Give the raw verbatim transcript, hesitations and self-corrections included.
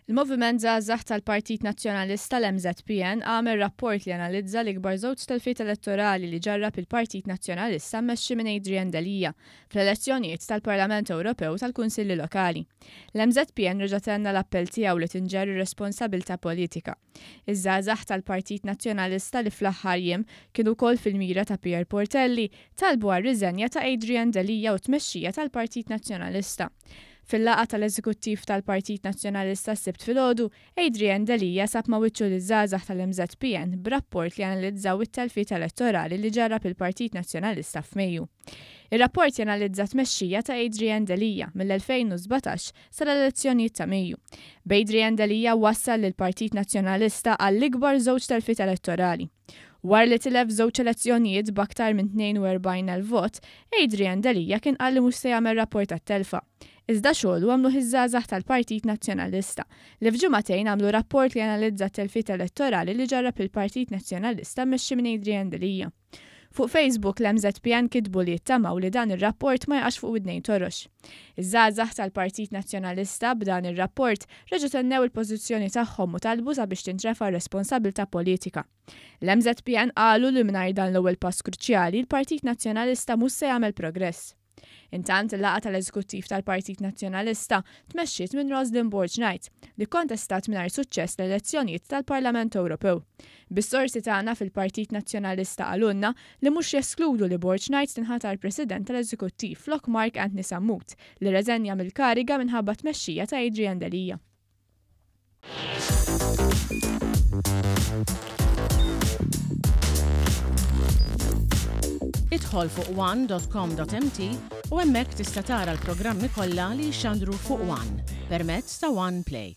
Il-Moviment Żgħażagħ tal-Partit Nazzjonalista, l-M Z P N, għamel rapport li analizza l-ikbar żewġ telfiet elettorali li ġarrab il-Partit Nazzjonalista mmexxi minn Adrian Delia fl-elezzjonijiet tal-Parlament Ewropew, tal-Kunsilli Lokali. L-M Z P N reġa' tenna l-appell tiegħu li tinġarr ir-responsabilità politika. Iż-żgħażagħ tal-Partit Nazzjonalista, li fl-aħħar jiem kienu wkoll fil-mira ta' Pierre Portelli, talbu għar-riżenja ta' Adrian Delia u tmexxija tal-Partit Nazzjonalista. Fil-laqgħa tal-Eżekuttiv tal-Partit Nazzjonalista s-Sibt filgħodu, Adrian Delia sab ma' wiċċu liż-żgħażagħ tal-M Z P N b'rapport li analizzaw it-telfiet elettorali li ġarrab il-Partit Nazzjonalista f'Mejju. Ir-rapport janalizza tmexxija ta' Adrian Delia mill-elfejn u sbatax sal-elezzjonijiet ta' Mejju. B'Adrian Delia wassal lill-Partit Nazzjonalista għall-ikbar żewġ telfiet elettorali. Wara li tilef żewġ elezzjonijiet b'aktar minn tnejn u erbgħin elf vot, Adrian Delia kien qal li mhux se jagħmel rapport tat-telfa. Iżda xogħlu għamlu iż-żgħażagħ tal-Partit Nazzjonalista, li f'ġimagħtejn għamlu rapport li analizza t-telfiet elettorali li ġarrab il-Partit Nazzjonalista mmexxi minn Adrian Delia. Fuq Facebook, l-M Z P N kitbu li jittamaw li dan ir-rapport ma jaqax fuq widnejn torox. Iż-żgħażagħ tal-Partit Nazzjonalista b'dan ir-rapport reġgħu tennew il-pożizzjoni tagħhom u talbu sabiex tintrefa' responsabilità politika. L-M Z P N qalu li mingħajr dan l-ewwel pass kruċjali, il-Partit Nazzjonalista mhux se jagħmel progress. Intant, il-laqgħa tal-Eżekuttiv tal-Partit Nazzjonalista tmexxiet minn Roslyn Borg Knight, li kontestat mingħajr suċċess l-elezzjonijiet tal-Parlament Ewropew. Bis-sorsi tagħna fil-Partit Nazzjonalista qalulna li mhux jeskludu li Borg Knight tinħatar President tal-Eżekuttiv flok Mark Anthony Sammut, li rreżenja mill-kariga minħabba tmexxija ta' Adrian Delia. Idħol fuq one dot com dot M T u hemmhekk tista' tara l-programmi kollha li jxandru fuq One permezz ta' One Play.